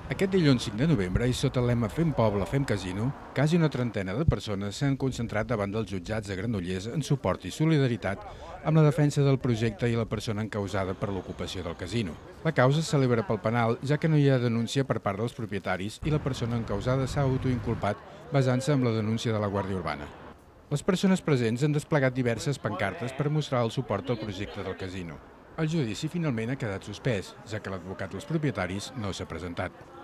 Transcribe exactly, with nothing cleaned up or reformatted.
Aquest dilluns cinc de novembre, i sota el lema Fem poble, fem casino, quasi una trentena de persones s'han concentrat davant dels jutjats de Granollers en suport i solidaritat amb la defensa del projecte i la persona encausada per l'ocupació del casino. La causa es celebra pel penal, ja que no hi ha denúncia per part dels propietaris i la persona encausada s'ha autoinculpat basant-se en la denúncia de la Guàrdia Urbana. Les persones presents han desplegat diverses pancartes per mostrar el suport al projecte del casino. El judici finalment ha quedat suspès, ja que l'advocat dels propietaris no s'ha presentat.